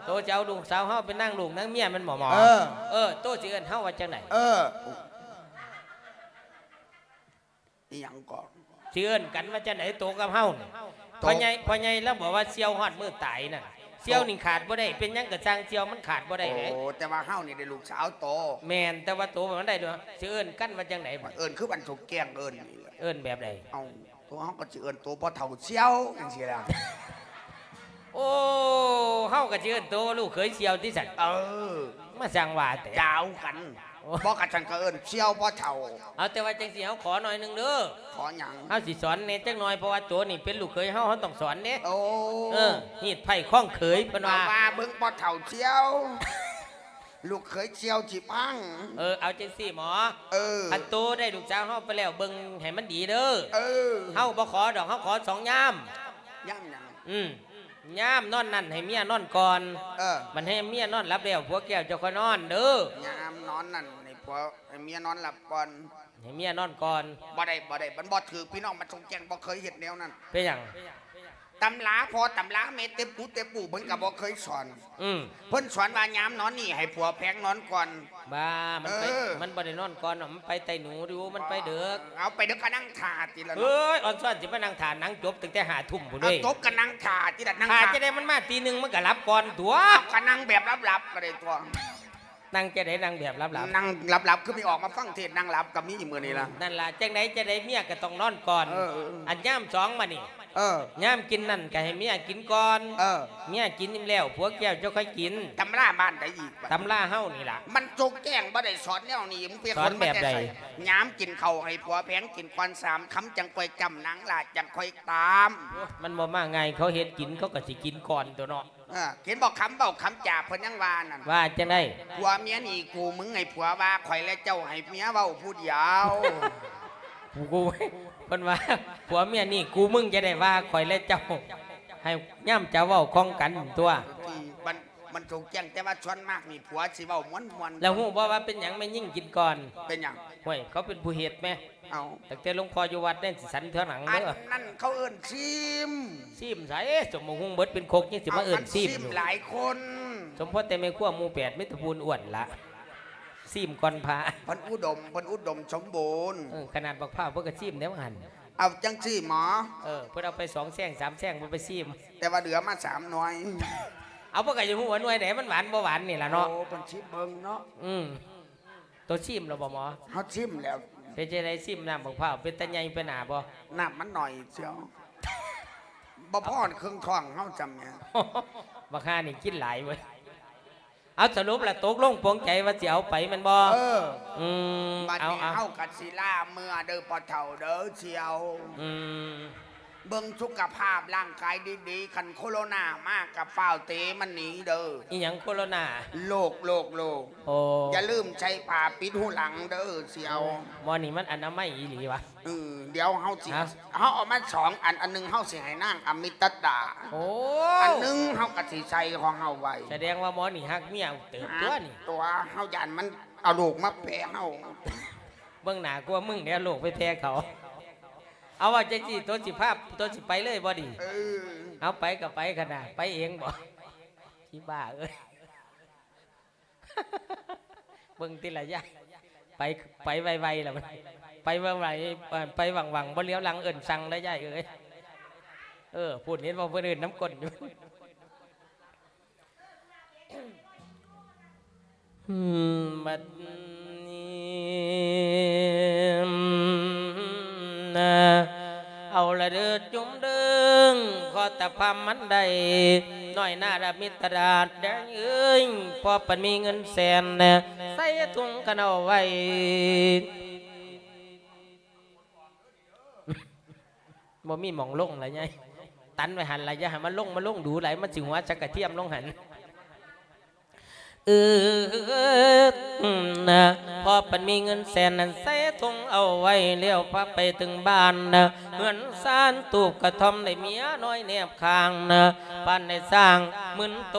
ໂຕຈະເອົາລູກສາວເຮົາເປັນນາງລູກນາງເມຍແມ່ນບໍ່ໝໍ? ເອີ ເອີ ໂຕຊິເອີ້ນເຮົາວ່າຈັ່ງໃດ? ເອີ ອີ່ຫຍັງກໍ ຊິເອີ້ນກັນວ່າຈັ່ງໃດ ໂຕກັບເຮົານີ້? ໂຕ ພໍ່ໃຫຍ່ ພໍ່ໃຫຍ່ລາວບອກວ່າສ່ຽວຮອດມື້ຕາຍນັ້ນ ສ່ຽວນີ້ຂາດບໍ່ໄດ້ ເປັນຫຍັງກໍຊ່າງ ສ່ຽວມັນຂາດບໍ່ໄດ້ເດ້. ໂອ້ ແຕ່ວ່າເຮົານີ້ໄດ້ລູກສາວໂຕ. ແມ່ນ ແຕ່ວ່າໂຕມັນໄດ້ດ້ວຍ. ຊິເອີ້ນກັນວ່າຈັ່ງໃດບັດ? ເອີ້ນຄືບັນສົງແກ້ງເອີ້ນນີ້ແຫຼະ. ເອີ້ນແບບໃດ? ເອົ້າ ໂຕເຮົາກໍຊິເອີ້ນໂຕພໍ່ເຖົ້າສ່ຽວຈັ່ງຊີ້ລະ. ໂອ້ ເຮົາກໍຊິເອີ້ນໂຕລູກເຂີຍສ່ຽວຕິຊັ້ນ? ເອີ ມາຊ່າງວ່າແທ້ ຈາວກັນ. ໂອ້ ບໍ່ ຄັນຊັ້ນກໍເອີ້ນສ່ຽວພໍ່ເຖົ້າ. ເອົາ ແຕ່ວ່າຈັ່ງຊີ້ ເຮົາຂໍໜ້ອຍໜຶ່ງເດີ. ຂໍຫຍັງ? ເຮົາຊິສອນແດ່ຈັກໜ່ອຍ ເພາະວ່າໂຕນີ້ເປັນລູກເຂີຍເຮົາ ເຮົາຕ້ອງສອນເດ້. ໂອ້ ເອີ ຮີດໄພ້ຄອງເຂີຍ ເພິ່ນວ່າ ເອົາວ່າເບິ່ງພໍ່ເຖົ້າສ່ຽວ ລູກເຂີຍສ່ຽວຊິພັງ. ເອີ ເອົາຈັ່ງຊີ້ໝໍ. ເອີ ຄັນໂຕໄດ້ລູກສາວເຮົາໄປແລ້ວ ເບິ່ງໃຫ້ມັນດີເດີ. ເອີ ເຮົາບໍ່ຂໍດອກ ເຮົາຂໍສອງຍາມ. ຍາມຫຍັງ? ອືມ ຍາມນອນນັ້ນໃຫ້ເມຍນອນກ່ອນ. ເອີ ບັດໃຫ້ເມຍນອນຫຼັບແລ້ວ ຜົວແກ້ວເຈົ້າຄ່ອຍນອນເດີ. ຍາມນອນນັ້ນໃຫ້ຜົວ ໃຫ້ເມຍນອນຫຼັບກ່ອນ ໃຫ້ເມຍນອນກ່ອນ. ບໍ່ໄດ້ ບໍ່ໄດ້ ມັນບໍ່ຖືກ ພີ່ນ້ອງ ມັນສົງແກ້ງບໍ່ເຄີຍເຮັດແນວນັ້ນ. ເປັນຫຍັງ? ຕຳລາພໍ່ຕຳລາແມ່ເຕັບປູເຕັບປູ ເພິ່ນກໍບໍ່ເຄີຍສອນ. ອືມ ເພິ່ນສອນວ່າຍາມນອນນີ້ໃຫ້ຜົວແພງນອນກ່ອນ. ບ້າ ມັນໄປ ເອີ ມັນບໍ່ໄດ້ນອນກ່ອນດອກ ມັນໄປໄຕ່ໜູຢູ່ ມັນໄປເດິກ. ເອົາ ໄປເດິກກໍນັ່ງຖ້າຕິລະເນາະ. ເອີຍ ອອນຊອນຊິມານັ່ງຖ້າ ນັ່ງຈົບຕັ້ງແຕ່ຫ້າທຸ່ມພຸ້ນເວີຍ. ຈົບກໍນັ່ງຖ້າຕິລະ ນັ່ງຖ້າ ຖ້າ ຈະໄດ້ມັນມາຕີໜຶ່ງ ມັນກໍຫຼັບກ່ອນຕົວະ. ກໍນັ່ງແບບຫຼັບໆກໍໄດ້ຕົວະ. ນັ່ງຈັ່ງໃດ? ນັ່ງແບບຫຼັບໆ? ນັ່ງຫຼັບໆ ຄືໄປອອກມາຟັງເທດນັ່ງຫຼັບກໍມີມື້ນີ້ລະ. ນັ້ນລະ ຈັ່ງໃດຈັ່ງໃດເມຍກໍຕ້ອງນອນກ່ອນ. ເອີ ເອີ ອັນຍາມສອງມານີ້ ເອີ ຍາມກິນນັ້ນກໍໃຫ້ເມຍກິນກ່ອນ. ເອີ ເມຍກິນອີ່ມແລ້ວ ຜົວແກ້ວເຈົ້າຄ່ອຍກິນ. ຕຳລາບ້ານໃດອີກ? ຕຳລາເຮົານີ້ລະ. ມັນຈົກແຈ້ງບໍ່ໄດ້ສອນແນວນີ້ ມຶງໄປຂົນມາແຕ່ໃສ? ຍາມກິນເຂົ້າໃຫ້ຜົວແພງກິນກ່ອນສາມຄຳ ຈັ່ງຄ່ອຍຈ້ຳ ນາງຫຼ້າຈັ່ງຄ່ອຍຕາມ. ໂອ້ ມັນບໍ່ມາງ່າຍ ເຂົາເຮັດກິນ ເຂົາກໍຊິກິນກ່ອນຕົວະເນາະ. ເອີ ເຫັນບໍ່ ຄຳເວົ້າຄຳຈາເພິ່ນຍັງວ່ານັ້ນ. ວ່າຈັ່ງໃດ? ຜົວເມຍນີ້ກູມຶງ ໃຫ້ຜົວວ່າຂ້ອຍແລະເຈົ້າ ໃຫ້ເມຍເວົ້າຜູ້ດຽວ. ກູ ເພິ່ນວ່າ ຜົວເມຍນີ້ກູມຶງ ຈະໄດ້ວ່າຂ້ອຍແລະເຈົ້າ ໃຫ້ຍາມເຈົ້າເວົ້າຂ້ອງກັນຕົວະ. ມັນ ມັນສົງແຈ້ງ ແຕ່ວ່າສ່ວນມາກນີ້ຜົວຊິເວົ້າມ່ວນໆ. ແລ້ວຮູ້ບໍ່ວ່າເປັນຫຍັງແມ່ຍິງກິນກ່ອນ? ເປັນຫຍັງ? ຫ້ວຍ ເຂົາເປັນຜູ້ເຮັດແມ. ເອົ້າ ຕັ້ງແຕ່ຫຼວງພໍ່ຢູ່ວັດແມ່ນຊິສັນເທື່ອຫຼັງເດີ. ອັນນັ້ນເຂົາເອີ້ນຊີມ. ຊີມໃສ? ສົມບັກຫຸ່ງເບິດເປັນຄົກ ຍັງຊິມາເອີ້ນຊີມຢູ່. ເອົ້າ ມັນຊີມຫຼາຍຄົນ. ສົມພໍແຕ່ແມ່ຄົວໝູ່ແປດ ມີແຕ່ຜູ້ອ້ວນລະ ຊີມກ່ອນພະ. ເພິ່ນອຸດົມ ເພິ່ນອຸດົມສົມບູນ. ເອີ ຂະໜາດບັກພ້າວເພິ່ນກໍຊີມແນວຫັ້ນ. ເອົາຈັ່ງຊີ້ໝໍ. ເອີ ເພິ່ນເອົາໄປສອງແຊງສາມແຊງ ບໍ່ໄປຊີມ ແຕ່ວ່າເຫຼືອມາສາມໜ່ວຍ. ເອົາ ເພິ່ນກໍຢາກຮູ້ວ່າໜ່ວຍໃດມັນຫວານບໍ່ຫວານນີ້ລະເນາະ. ໂອ້ ເພິ່ນຊີມເບິ່ງເນາະ. ອືມ ໂຕຊີມແລ້ວບໍ່ໝໍ? ເຮົາຊີມແລ້ວ. ເປັນຈັ່ງໃດ? ຊີມນ້ຳບັກພ້າວເປັນຕາໃຫຍ່ໄປໜ້າບໍ່? ນ້ຳມັນໜ້ອຍສ່ຽວ ບໍ່ພໍເຄິ່ງທ້ອງເຮົາຊ້ຳແໝ. ບັກຫ່ານີ້ກິນຫຼາຍເວີ້ຍ. ເອົາ ສະຫຼຸບລະຕົກລົງປົງໃຈວ່າຊິເອົາໄປແມ່ນບໍ່? ເອີ ອືມ ບັດນີ້ ເອົາ ເອົາ ເຮົາກໍຊິລາເມືອເດີພໍ່ເຖົ້າເດີສ່ຽວ. ອືມ ເບິ່ງສຸຂະພາບຮ່າງກາຍດີໆ ຄັນໂຄໂຣນາມາກໍຟ້າວເຕະມັນໜີເດີ. ອີ່ຫຍັງໂຄໂຣນາ? ໂລກ ໂລກ ໂລກ. ໂອ້ ຢ່າລືມໃສ່ຜ້າປິດຫູຫຼັງເດີສ່ຽວ. ໝໍນີ້ມັນອະນາໄມອີ່ຫຼີວະ. ເອີ ດຽວເຮົາຊິ ຮະ? ເຮົາເອົາມາສອງອັນ ອັນໜຶ່ງເຮົາຊິໃຫ້ນາງອາມິດຕະດາ. ໂອ້ ອັນໜຶ່ງເຮົາກໍຊິໃສ່ຂອງເຮົາໄວ້. ສະແດງວ່າໝໍນີ້ຮັກເມຍເຕີບຕົວະນີ້. ຕົວະ ເຮົາຢ້ານມັນເອົາໂລກມາແຜ່ເຮົາ. ເບິ່ງໜ້າກວ່າມຶງແດ່ ໂລກໄປແຜ່ເຂົາ. ເອົາ ເວົ້າຈັ່ງຊີ້ ໂຕຊິພາ ໂຕຊິໄປເລີຍບໍ່ນີ້? ເອີ ເອົາ ໄປກໍໄປຂະໜາດ ໄປເອງບໍ່? ອີບ້າເອີຍ. ເບິ່ງຕິລະຍາຍ ໄປ ໄປໄວໆລະ ໄປໄວໆ ເອີ ໄປຫວັງໆ ບໍ່ຫຼຽວຫຼັງເອີ້ນສັ່ງລະຍາຍເອີຍ. ເອີ ພຸ້ນ ເຫັນບໍ່ ເພິ່ນເອີ້ນນຳກົ້ນຢູ່. ອືມ ບັດນີ້ນະ ເອົາລະເດີຈຸມເດີງ ຂໍຕາພາມມັນໄດ້ ນ້ອຍໜ້າລະມິດຕະດາດແດງເອີຍ ພໍປັນມີເງິນແສນ ໃສ່ຖົງກັນເອົາໄວ້. ບໍ່ມີໝ່ອງລົງລະຍາຍ ຕັນໄວ້ຫັ້ນລະ ຢ່າໃຫ້ມັນລົງ ມັນລົງດູຫຼາຍ ມັນຊິຫົວຈັກກະທຽມລົງຫັ້ນ. ເອີ ນະ ພໍປັນມີເງິນແສນນັ້ນ ໃສ່ຖົງເອົາໄວ້ແລ້ວ ພາໄປເຖິງບ້ານນະ ເຮືອນຊານຕູບກະທ່ອມ ໄດ້ເມຍນ້ອຍແນບຂ້າງນະ ປານໄດ້ສ້າງໝື່ນໂຕ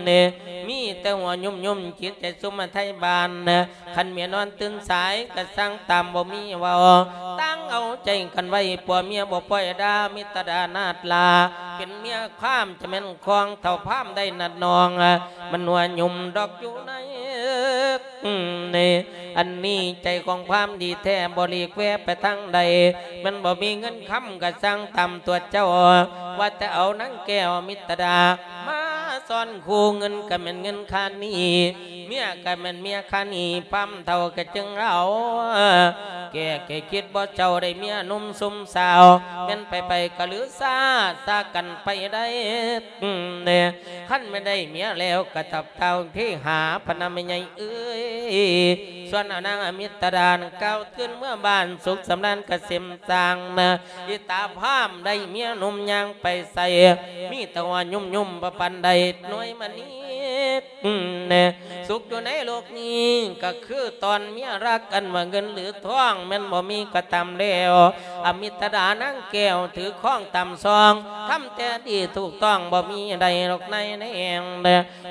ເດ້ ມີແຕ່ຫົວຍົມໆ ຈິດໃຈສົມໄທບ້ານນະ ຄັນເມຍນອນຕື່ນສາຍ ກະສັ່ງຕາມບໍ່ມີເວົ້າ ຕ່າງ ເອົາໃຈກັນໄວ້ ຜົວເມຍບໍ່ປ່ອຍດາ ມິດຕະດານາດລາ ເປັນເມຍພາມຈະແມ່ນຂອງເຖົ້າພາມໄດ້ນາດນ້ອງ ມັນຫົວຫຍຸ່ມດອກຢູ່ໃນ ອັນນີ້ໃຈຂອງພາມດີແທ້ ບໍ່ຫຼີກແວໄປທາງໃດ ມັນບໍ່ມີເງິນຄຳກະຊ່າງຕາມຕົວເຈົ້າ ວ່າແຕ່ເອົານາງແກ້ວມິດຕະດາ ມາສອນຄູ່ ເງິນກະແມ່ນເງິນຄ່າໜີ້ ເມຍກະແມ່ນເມຍຄ່າໜີ້ ພາມເຖົ້າກະຈຶ່ງເອົາ ແກ້ແກ່ຄິດບໍ່ເຈົ້າໄດ້ເມຍໜຸ່ມຊຸມສາວ ແມ່ນໄປໄປກະລືຊາ ຊາກັນໄປໄດ້ ຄັນແມ່ນໄດ້ເມຍແລ້ວກະຕັບເຕົ່າເພຫາ ພະນະແມ່ໃຫຍ່ເອີຍ ສ່ວນອານາງອາມິດຕະດານ ກ່າວຕື່ນເມືອບ້ານ ສຸກສຳລານກະເສມສ້າງນະ ອີຕາພາມໄດ້ເມຍໜຸ່ມຍ່າງໄປໃສ ມີແຕ່ວ່າຫຍຸ່ມໆ ບໍ່ປານໃດໜ່ວຍມະນີ ສຸກຢູ່ໃນໂລກນີ້ ກະຄືຕອນເມຍລັກ ອັນວ່າເງິນຫຼືທອງ ແມ່ນບໍ່ມີກະຕາມແລ້ວ ອາມິດຕະດານາງແກ້ວ ຖືຄອງຕາມຊອງ ທຳແຕ່ດີຖືກຕ້ອງ ບໍ່ມີໃດດອກໃນແນງ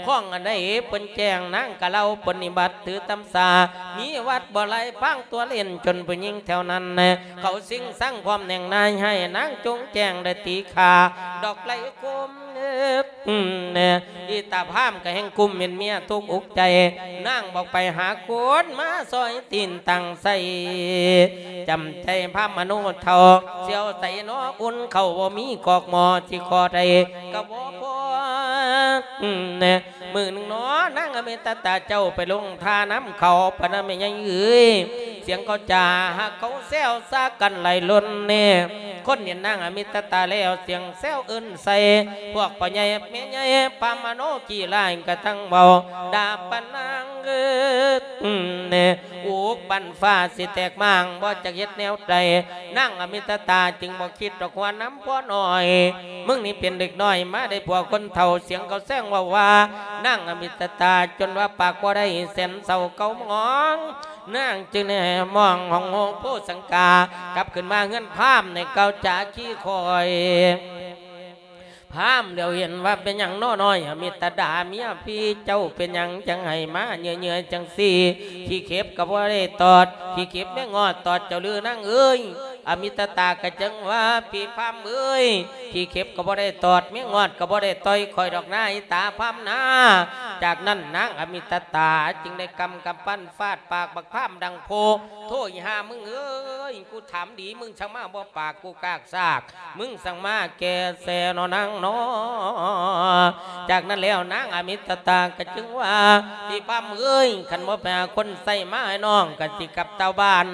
ຄອງອັນໃດເພິ່ນແຈ້ງ ນາງກະເລົ່າປະນິບັດ ຖືຕຳສາ ມີວັດບໍ່ໄຫຼ ພາງຕົວເຫຼັ້ນ ຈົນຜູ້ຍິງແຖວນັ້ນ ເຂົາຊິງສັງ ພ້ອມແໜ່ງນາຍ ໃຫ້ນາງຈົ່ງແຈ້ງ ໄດ້ຕີຂ້າ ດອກໄຫຼຄົມ ອີຕາພາມກະແຮ່ງກຸ້ມເປັນເມຍທຸກອົກໃຈ ນາງບອກໄປຫາຄົນມາຊອຍຕີນຕັ້ງໃສ່ ຈຳໃຈພາມມະໂນເຖົ້າ ສຽວໃສໜໍອຸ່ນເຂົ້າ ບໍ່ມີກອກໝໍ້ ຊິຂໍໄດ້ກະບໍ່ພໍ ມື້ໜຶ່ງໜໍ ນາງອະມິດຕະຕາເຈົ້າໄປລົງທ່ານຳເຂົາ ພະນະແມ່ໃຫຍ່ເອີຍ ສຽງເຂົາຈາຫາເຂົາແຊວຊາກັນໄຫຼລົນແນ່ ຄົນເຫັນນາງອະມິດຕະຕາແລ້ວ ສຽງແຊວເອີ້ນໃສ່ ພວກພໍ່ໃຫຍ່ແມ່ໃຫຍ່ ພາມມະໂນຂີ້ຮ້າຍກະທັງເວົ້າ ດ່າປານນາງເອີຍ ອຸກບັ້ນຟ້າຊິແຕກມ້າງ ບໍ່ຈັກເຮັດແນວໃດ ນາງອະມິດຕະຕາຈຶ່ງບໍ່ຄິດດອກຫົວນຳພໍ່ນ້ອຍ ມຶງນີ້ເປັນເດັກນ້ອຍ ມາໄດ້ຜົວຄົນເຖົ້າ ສຽງເຂົາແຊງເວົ້າວ່າ ນາງອະມິດຕະຕາ ຈົນວ່າປາກບໍ່ໄດ້ແສນເສົ້າເກົາໝອງ ນາງຈຶ່ງໄດ້ມອງຫ້ອງໂຮໂພສັງກາ ກັບຂຶ້ນມາເຮືອນພາມໃນເກົາຈາຂີ້ຂ້ອຍ ພາມຫຼຽວເຫັນວ່າ ເປັນຫຍັງນໍນ້ອຍອະມິດຕະດາ ເມຍພີ່ເຈົ້າເປັນຫຍັງຈັ່ງໃຫ້ມາເຫຍື້ອໆຈັ່ງຊີ້ ຂີ້ເຂັບກະບໍ່ໄດ້ຕອດ ຂີ້ເຂັບແມ່ງອດຕອດເຈົ້າຫຼືນາງເອີຍ ອະມິດຕະຕາກະຈຶ່ງວ່າ ພີ່ພາມເອີຍ ຂີ້ເຂັບກະບໍ່ໄດ້ຕອດ ແມ່ງອດກະບໍ່ໄດ້ຕ່ອຍຂ້ອຍດອກນາ ອີຕາພາມນາ ຈາກນັ້ນນາງອະມິດຕະຕາຈຶ່ງໄດ້ກຳກຳປັ້ນ ຟາດປາກບັກພາມດັງໂພ ໂທ້ ອີຫ່າມຶງເອີຍ ກູຖາມດີ ມຶງຊ່າງມາບໍ່ປາກກູກາກຊາກ ມຶງຊ່າງມາແກ່ແສນໍນາງນໍ ຈາກນັ້ນແລ້ວນາງອະມິດຕະຕາກະຈຶ່ງວ່າ ພີ່ພາມເອີຍ ຄັນບໍ່ໄປຫາຄົນໃຊ້ມາໃຫ້ນ້ອງກະຊິກັບເຕົາບ້ານ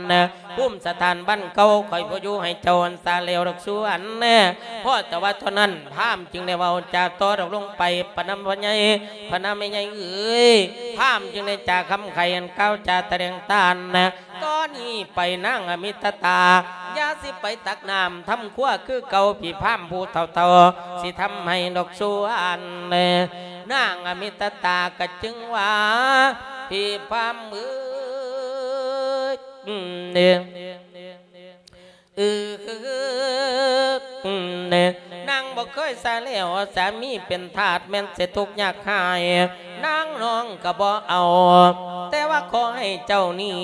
ພູມສະຖານບ້ານເກົ່າ ຂ້ອຍບໍ່ຢູ່ໃຫ້ເຈົ້າອັນສາແລ້ວດອກສວນ ພໍແຕ່ວ່າເທົ່ານັ້ນ ພາມຈຶ່ງໄດ້ເວົ້າຈາຕໍ່ດອກລົງໄປ ພະນຳພໍ່ໃຫຍ່ ພະນຳແມ່ໃຫຍ່ເອີຍ ພາມຈຶ່ງໄດ້ຈາຄຳໄຂ ອັນກ່າວຈາຕະແຫຼງຕານ ຕອນນີ້ໄປນາງອະມິດຕະຕາ ຢ່າຊິໄປຕັກນ້ຳທຳຄົວຄືເກົ່າ ພີ່ພາມຜູ້ເຖົ້າໆ ຊິທຳໃຫ້ດອກສວນ ນາງອະມິດຕະຕາກະຈຶ່ງວ່າ ພີ່ພາມເອີຍ ນາງບໍ່ເຄີຍສາແລ້ວ ສາມີເປັນທາດແມ່ນຊິທຸກຍາກຮ້າຍ ນາງນ້ອງກະບໍ່ເອົາ ແຕ່ວ່າຂໍໃຫ້ເຈົ້ານີ້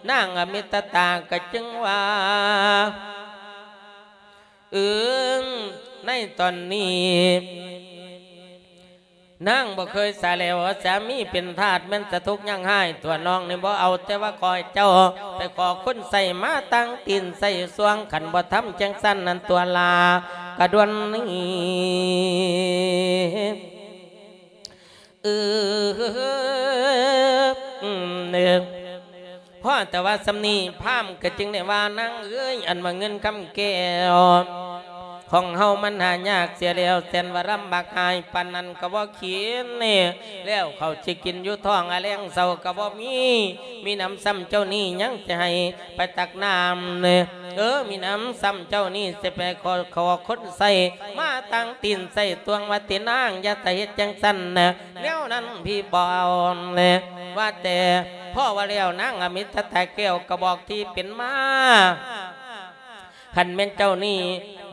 ນາງອະມິດຕະຕາກະຈຶ່ງວ່າ ອືມ ໃນຕອນນີ້ ນາງບໍ່ເຄີຍສາແລ້ວ ສາມີເປັນທາດແມ່ນສະທຸກຍັງຮ້າຍ ຕົວນ້ອງນີ້ບໍ່ເອົາ ແຕ່ວ່າຂໍໃຫ້ເຈົ້າໄປຂໍຄົນໃຊ້ມາຕັ້ງຕີນໃສ່ສວງ ຄັນບໍ່ທຳຈັ່ງຊັ້ນນັ້ນຕົວລາກະດ່ວນນີ້ ອືມ ພໍແຕ່ວ່າສ່ຳນີ້ ພາມກໍຈຶ່ງໄດ້ວ່າ ນາງເອີຍ ອັນວ່າເງິນຄຳແກ້ວຂອງເຮົາມັນຫາຍາກເສຍແລ້ວ ແສນວ່າລຳບາກຫາຍ ປານນັ້ນກໍບໍ່ກິນແລ້ວ ເຂົ້າຊິກິນຢູ່ທ້ອງ ອາແລງເຊົ້າກໍບໍ່ມີ ມີໜຳຊ້ຳເຈົ້ານີ້ຍັງຊິໃຫ້ໄປຕັກນ້ຳ ເອີ ມີໜຳຊ້ຳເຈົ້ານີ້ຊິໄປຂໍ ຂໍຄົນໃຊ້ມາຕັ້ງຕີນໃສ່ຕວງ ວ່າຕິນາງ ຢ່າໄດ້ເຮັດຈັ່ງຊັ້ນ ແນວນັ້ນພີ່ບໍ່ເອົາ ວ່າແຕ່ພໍວ່າແລ້ວ ນາງອະມິດຕະຕາແກ້ວກໍບອກທີ່ເປັນມາ ຄັນແມ່ນເຈົ້ານີ້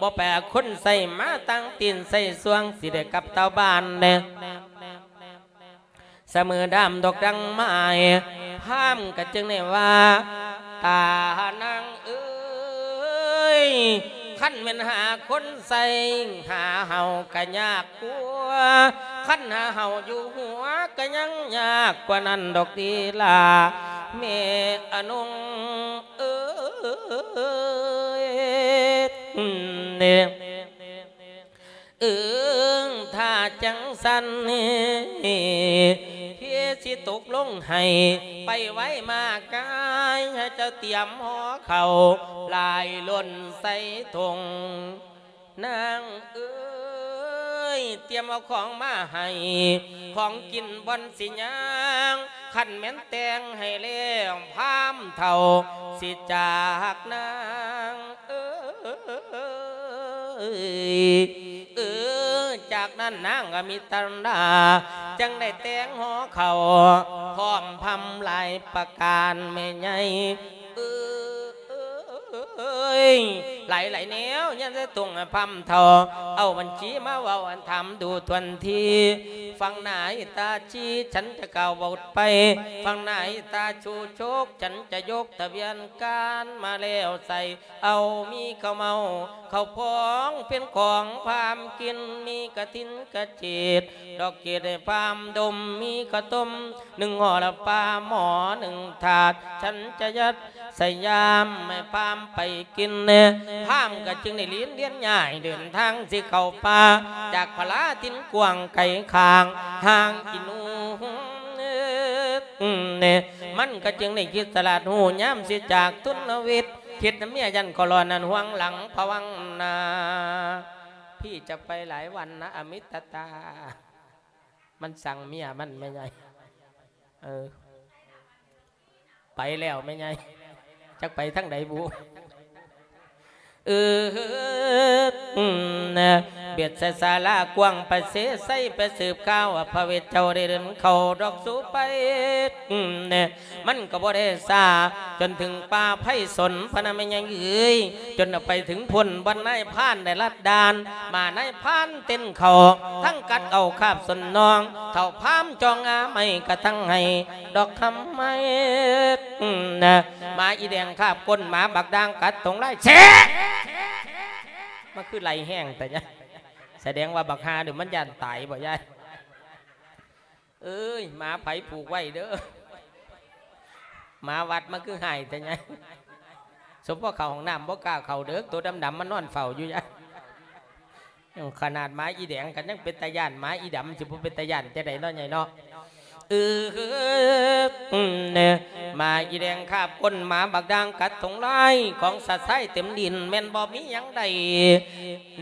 ບໍ່ໄປເອົາຄົນໃຊ້ມາຕັ້ງຕີນໃສ່ສວງ ຊິໄດ້ກັບເຕົາບ້ານ ສະເໝີດາມດອກດັງໄມ້ ພາມກໍຈຶ່ງໄດ້ວ່າ ຕານາງເອີຍ ຄັນແມ່ນຫາຄົນໃສ່ ຫາເຮົາກໍຍາກກວ່າ ຄັນຫາເຮົາຢູ່ຫົວ ກໍຍັງຍາກກວ່ານັ້ນດອກເດລາ ແມ່ອະນົງເອີຍ. ເອີງ ຖ້າຈັ່ງຊັ້ນ ເພຊິຕົກລົງໃຫ້ ໄປໄວມາກາຍ ໃຫ້ເຈົ້າຕຽມຫໍ່ເຂົ້າ ຫຼາຍລົ້ນໃສ່ຖົງ ນາງເອີຍ ຕຽມເອົາຂອງມາໃຫ້ ຂອງກິນບ່ອນຊິຍ່າງ ຄັນແມ່ນແຕ່ງໃຫ້ແລ້ວ ພາມເຖົ້າຊິຈາກນາງເອີຍ. ເອີ ຈາກນັ້ນນາງອະມິຕະລາ ຈຶ່ງໄດ້ແຕ່ງຫໍ່ເຂົ້າ ພ້ອມພາມຫຼາຍປະການແມ່ໃຫຍ່ເອີຍ. ຫຼາຍໆແນວຍັງໄດ້ຕົງໃຫ້ພາມເຖົ້າ ເອົາບັນຊີມາເວົ້າອັນຖາມດູທວນທີ ຟັງໜ້າອີຕາຊີ ສັນຈະກ່າວເວົ້າໄປ ຟັງໜ້າອີຕາຊູໂຊກ ສັນຈະຍົກທະບຽນການມາແລ້ວໃສ່ ເອົາມີເຂົ້າເມົາເຂົ້າພອງ ເປັນຂອງພາມກິນ ມີກະຖິນກະເຈດ ດອກເກດໃຫ້ພາມດົມ ມີເຂົ້າຕົ້ມໜຶ່ງຫໍ່ລະປາ ໝໍ້ໜຶ່ງຖາດ ສັນຈະຍັດໃສ່ຍາມໃຫ້ພາມໄປກິນແດ່. ພາມກໍຈຶ່ງໄດ້ລີນລຽນຍ້າຍ ເດີນທາງຊິເຂົ້າປ່າ ຈາກພະລາຖິ່ນກວ້າງໄກຂ້າງ ຫ່າງອີໜູ ມັນກໍຈຶ່ງໄດ້ຄິດສະຫຼາດຮູ້ ຍາມຊິຈາກທຸນນະວິດ ຄິດນຳເມຍຢ້ານກໍລອນນັ້ນຫວງຫຼັງພະວັງນາ ພີ່ຈະໄປຫຼາຍວັນນະອະມິດຕະຕາ ມັນສັ່ງເມຍມັນແມ່ໃຫຍ່ ເອີ ໄປແລ້ວແມ່ໃຫຍ່ ຈັກໄປທາງໃດບຸ ເອີ ບຽດໃສ່ສາລາກວ້າງ ໄປເສໄສໄປສືບຂ່າວວ່າ ພະເວດເຈົ້າໄດ້ເດີນເຂົ້າດອກສູໄປ ມັນກໍບໍ່ໄດ້ຊ້າ ຈົນເຖິງປ່າໄພສົນ ພະນະແມ່ໃຫຍ່ເອີຍ ຈົນໄປເຖິງພຸ້ນ ບ່ອນນາຍພານໄດ້ລັດດ່ານ ມານາຍພານເຕັ້ນເຂົ້າ ທັງກັດເອົາຄາບສົນນອງ ເຖົ້າພາມຈ່ອງອາໄມ້ກະທັງໄຫ້ ດອກຄຳໄມ້ ໝາອີແດງຄາບກົ້ນ ໝາບັກດ່າງກັດຕົງລາຍ ແຊະ ມາຄືໄລ່ແຮງແຕ່ຍາຍ ສະແດງວ່າບັກຫ່ານີ້ມັນຢ້ານຕາຍບໍ່ຍາຍ? ເອີຍ ໝາໃຜຜູກໄວ້ເດີ ໝາວັດມາຄືຮ້າຍແຕ່ຍາຍ ສົມພໍເຂົ້າຫ້ອງນ້ຳບໍ່ກ້າເຂົ້າເດີ ໂຕດຳໆມານອນເຝົ້າຢູ່ຍາຍ. ຂະໜາດໝາອີແດງກໍຍັງເປັນຕາຢ້ານ ໝາອີດຳຊິບໍ່ເປັນຕາຢ້ານຈັ່ງໃດເນາະຍາຍເນາະ. ເອີ ໝາອີແດງຄາບກົ້ນ ໝາບັກດ່າງກັດຖົງລາຍ ຂອງຊາຊາຍເຕັມດິນ ແມ່ນບໍ່ມີຫຍັງໃດ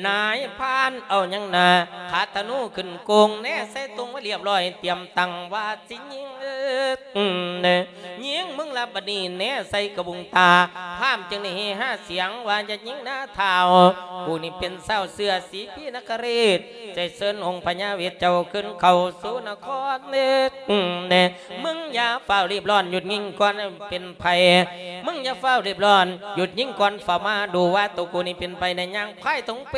ນາຍພານເອົາຫຍັງນາ ຄາທະນູຂຶ້ນໂກງ ແນໃສ່ຕົງໄວ້ລຽບຮ້ອຍ ຕຽມຕັ້ງວ່າຊິຍິງ ຍິງມຶງລະບາດນີ້ ແນໃສ່ກະບຸງຕາ ພາມຈຶ່ງໄດ້ເຮຮາສຽງວ່າ ຢ່າຍິງນາທ້າວ ຜູ້ນີ້ເປັນຊາວເຊື້ອສີພີນະຄະເຣດ ຈະເຊີນອົງພະຍາເວດເຈົ້າຂຶ້ນເຂົ້າສູ່ນະຄອນ ມຶງຢ່າຟ້າວຣີບຮ້ອນ ຢຸດຍິງກ່ອນເປັນໄພ ມຶງຢ່າຟ້າວຣີບຮ້ອນ ຢຸດຍິງກ່ອນ ຟ້າວມາດູວ່າໂຕກູນີ້ເປັນໃຜ ໃນຍ່າງພາຍຖົງເປ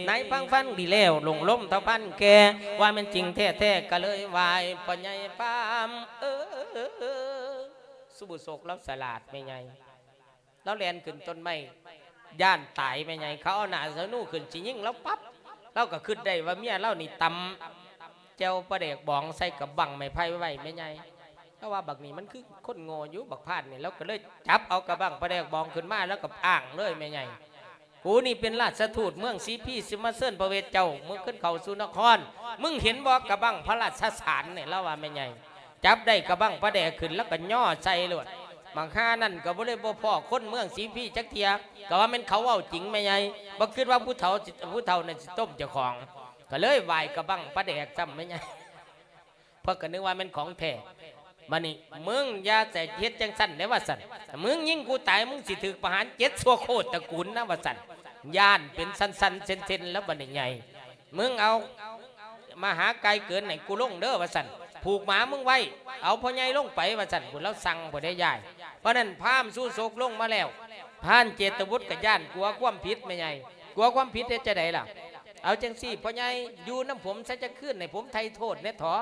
ນາຍພັນຟັງດີແລ້ວ ຫຼົງລົມເທົ່າພັນແກ່ ວ່າແມ່ນຈິງແທ້ໆ ກະເລີຍໄຫວ້ພໍ່ໃຫຍ່ພາມ ເອີ ສຸບຸໂສກລາວສະຫຼາດແມ່ໃຫຍ່ ລາວແລ່ນຂຶ້ນຕົ້ນໄມ້ ຢ້ານຕາຍແມ່ໃຫຍ່ ເຂົາເອົາໜ້າສະໜູຂຶ້ນຊິຍິງລາວປັບ ລາວກໍຄິດໄດ້ວ່າເມຍລາວນີ້ຕຳແຈ່ວປາແດກບອງໃສ່ກະບັ້ງໄມ້ໄຜ່ໄວ້ແມ່ໃຫຍ່ ລາວວ່າບັກນີ້ມັນຄືຄົນໂງ່ຢູ່ ບັກພານນີ້ ລາວກໍເລີຍຈັບເອົາກະບັ້ງປາແດກບອງຂຶ້ນມາ ລາວກໍອ້າງເລີຍແມ່ໃຫຍ່ ກູນີ້ເປັນລາຊະທູດເມືອງສີພີ ຊິມາເຊີນພະເວດເຈົ້າ ມຶງຂຶ້ນເຂົ້າສູ່ນະຄອນ ມຶງເຫັນບໍ່ກະບັ້ງພະລາຊະສານນີ້ ລາວວ່າແມ່ໃຫຍ່ ຈັບໄດ້ກະບັ້ງປາແດກຂຶ້ນ ລາວກໍຍໍໃສ່ໂລດ ບັກຫ່ານັ້ນກໍບໍ່ໄດ້ບໍ່ພໍ້ຄົນເມືອງສີພີຈັກເທື່ອ ກໍວ່າແມ່ນເຂົາເວົ້າຈິງແມ່ໃຫຍ່ ບໍ່ຄິດວ່າຜູ້ເຖົ້າ ຜູ້ເຖົ້ານັ້ນຊິຕົ້ມເຈົ້າຂອງ ກໍເລີຍຫວ້າຍກະບັ້ງປາແດກຊ້ຳແມ່ໃຫຍ່ ເພິ່ນກໍນຶກວ່າແມ່ນຂອງແທ້ ບາດນີ້ ມຶງຢ່າໃສ່ເຮັດຈັ່ງຊັ້ນເດ້ ວ່າຊັ້ນ ມຶງຍິງກູຕາຍ ມຶງຊິຖືກປະຫານເຈັດຊົ່ວໂຄດຕະກູນນະ ວ່າຊັ້ນ ຢ້ານເປັນຊັ້ນໆເຊັ່ນໆ ແລ້ວບາດນີ້ໃຫຍ່ ມຶງເອົາມະຫາໄກ່ເກີນໃຫ້ກູລົງເດີ ວ່າຊັ້ນ ຜູກໝາມຶງໄວ້ ເອົາພໍ່ໃຫຍ່ລົງໄປ ວ່າຊັ້ນ ພຸ້ນລາວສັ່ງພຸ້ນເດ້ຍາຍ ເພາະນັ້ນພາມສຸໂສກລົງມາແລ້ວ ພານເຈດຕະບຸດກໍຢ້ານ ກົວຄວາມຜິດແມ່ໃຫຍ່ ກົວຄວາມຜິດເຮັດຈັ່ງໃດລະ ເອົາຈັ່ງຊີ້ ພໍ່ໃຫຍ່ຢູ່ນຳຜົມຊະຈັກຄືນ ໃຫ້ຜົມໄຖ່ໂທດແດ່ເຖາະ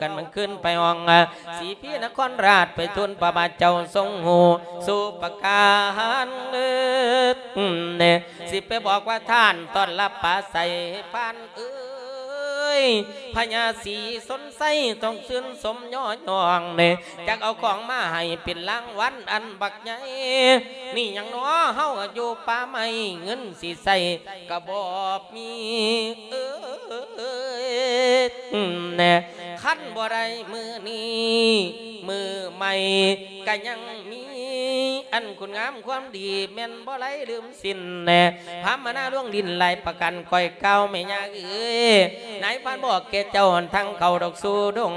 ກັນມື້ຄືນໄປຫ້ອງ ສີພີນະຄອນລາດ ໄປທູນພະບາດເຈົ້າຊົງຮູ້ສູ່ປະການເລີດ ຊິໄປບອກວ່າທ່ານຕ້ອນຮັບປາໃສ ພານເອີຍ ພະຍາສີຊົນໄຊຕ້ອງຊື່ນຊົມຍໍຍ້ອງ ຈັກເອົາຂອງມາໃຫ້ເປັນລາງວັນອັນບັກໃຫຍ່ ນີ້ຫຍັງນໍ ເຮົາຢູ່ປ່າໄມ້ ເງິນຊິໃຊ້ກະບໍ່ມີເອີຍ ຄັນບໍ່ໄດ້ມື້ນີ້ ມື້ໃໝ່ກະຍັງມີ ອັນຄຸນງາມຄວາມດີ ແມ່ນບໍ່ໄດ້ລືມສິ້ນ ພາມມະນາລວງຫຼິ້ນຫຼາຍປະການ ຂ້ອຍກ່າວແມ່ຍ່າເອີຍ ນາຍພານບອກແກ່ເຈົ້າ ທາງເຂົ້າດອກສູ່ດົງ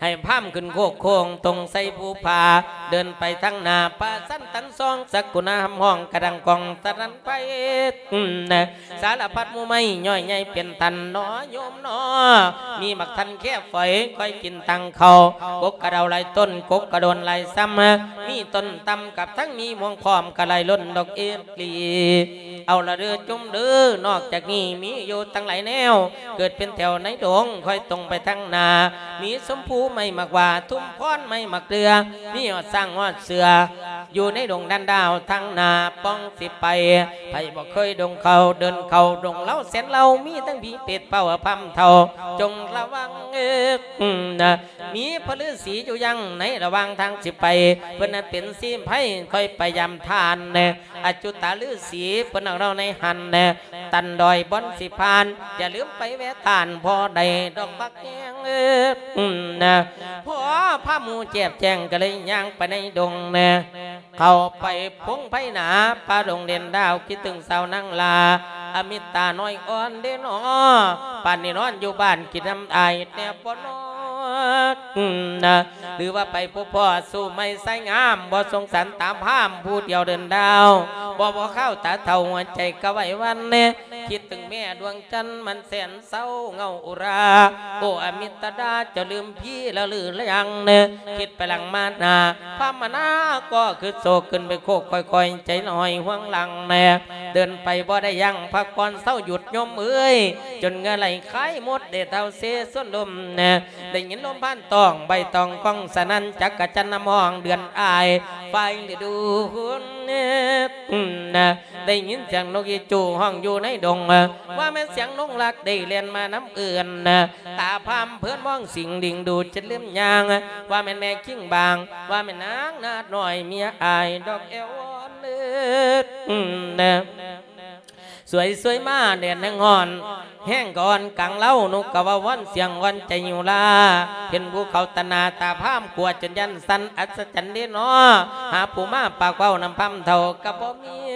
ໃຫ້ພາມຂຶ້ນໂຄກໂຄ້ງຕົງໄຊພູຜາ ເດີນໄປທາງໜ້າ ປະຊັນຕັນຊອງ ສັກກຸນາຮຳຮ້ອງກະດັງກ້ອງສະໜັ່ນໄພ ສາລະພັດໝູ່ໄມ້ຍ່ອຍໃຫຍ່ເປັນຕັນໜໍໂຍມໜໍ ມີໝາກທັນແຄຝອຍ ຄ່ອຍກິນຕັງເຂົ້າ ກົກກະເດົາຫຼາຍຕົ້ນ ກົກກະໂດນຫຼາຍຊຳ ມີຕົ້ນຕຳກັບທັງມີມ່ວງພ້ອມ ກະໄຫຼລົ້ນດອກເອດລີ ເອົາລະເດີຈຸມເດີ ນອກຈາກນີ້ມີຢູ່ຕັ້ງຫຼາຍແນວ ເກີດເປັນແຖວໃນດົງ ຄ່ອຍຕົງໄປທາງໜ້າ ມີຊົມພູໄມ້ໝາກຫວ້າ ທຸມພອນໄມ້ໝາກເດືອ ມີຮອດຊ້າງຮອດເສືອ ຢູ່ໃນດົງດັນດາວທາງໜ້າປ່ອງຊິໄປ ໃຜບໍ່ເຄີຍດົງເຂົ້າ ເດີນເຂົ້າດົງເລົ່າແສນເລົ່າ ມີທັງຜີເປດເປົ່າພາມເຖົ້າ ຈົ່ງລະວັງເອີ ນະ ມີພະລືສີຢູ່ຍັງໃນລະຫວ່າງທາງຊິໄປ ເພິ່ນນັ້ນເປັນຊີໄພ ຄ່ອຍໄປຢາມທ່ານແນ່ ອາຈຸຕາລືສີ ເພິ່ນເອົາເຮົາໃນຫັ້ນແນ່ ຕັນດອຍບ່ອນຊິຜ່ານ ຢ່າລືມໄປແວະທ່ານ ພໍໄດ້ດອກບັກແຍງເອີ ນະ ພໍພາໝູ່ແຈບແຈງ ກະເລີຍຍ່າງໄປໃນດົງແນ່ ເຂົ້າໄປພົງໄພໜາ ປ່າດົງເດັ່ນດາວ ຄິດເຖິງສາວນາງລາ ອາມິດຕານ້ອຍອ່ອນເດ້ໜໍ ປານນີ້ນອນຢູ່ບ້ານ ຄິດນຳອ້າຍແດ່ບໍ່ນອ ນະ ຫຼືວ່າໄປພົບພໍ້ສູ່ໃໝ່ຊາຍງາມ ບໍ່ສົງສານຕາພາມຜູ້ດຽວເດີນດາວ ບໍ່ພໍຄາວຕາເຖົ້າ ຫົວໃຈກະໄຫວຫວັ່ນແນ່ ຄິດເຖິງແມ່ດວງຈັນ ມັນແສນເສົ້າເຫງົາອຸຣາ ໂອອາມິດຕະດາ ເຈົ້າລືມພີລະຫຼືລະຍັງແນ່ ຄິດໄປຫຼັງມາໜ້າ ພາມມະນາກໍຄຶດໂສກ ຂຶ້ນໄປໂຄກຄ່ອຍໆ ໃຈລອຍຫວງຫຼັງແນ່ ເດີນໄປບໍ່ໄດ້ຢັ້ງ ພັກຜ່ອນເຊົາຢຸດໂຍມເອີຍ ຈົນເຫື່ອໄຫຼຄາຍໝົດ ໄດ້ເທົ່າເຊສ່ວນລົມແນ່ ໄດ້ຍິນລົມພານຕ້ອງ ໃບຕອງກ້ອງສະໜັ່ນ ຈັກກະຈັນນຳຮ້ອງເດືອນອ້າຍ ຝ່າຍລະດູນ ໄດ້ຍິນສຽງນົກອີຈູຮ້ອງຢູ່ໃນດົງ ວ່າແມ່ນສຽງນົກລັກໄດ້ແລ່ນມານຳເອື້ອນ ຕາພາມເພີນມອງສິງດິງດູຈະລືມຍ່າງ ວ່າແມ່ນແມ່ຄິງບາງ ວ່າແມ່ນນາງນາດນ້ອຍເມຍອ້າຍດອກແອວອ່ອນເອີ ນະ ສວຍສວຍມາແດດແຮງຮ້ອນ ແຮງກະອ່ອນກາງເລົາ ນົກກະວ່າວອນສຽງວອນໃຈຫິວລາ ເຫັນພູເຂົາຕາໜ້າຕາພາມ ກົວຈົນຢ້ານສັ່ນ ອັດສະຈັນເດເນາະ ຫາຜູ້ມາປາກເວົ້ານຳພາມເຖົ້າກະບໍ່ມີ.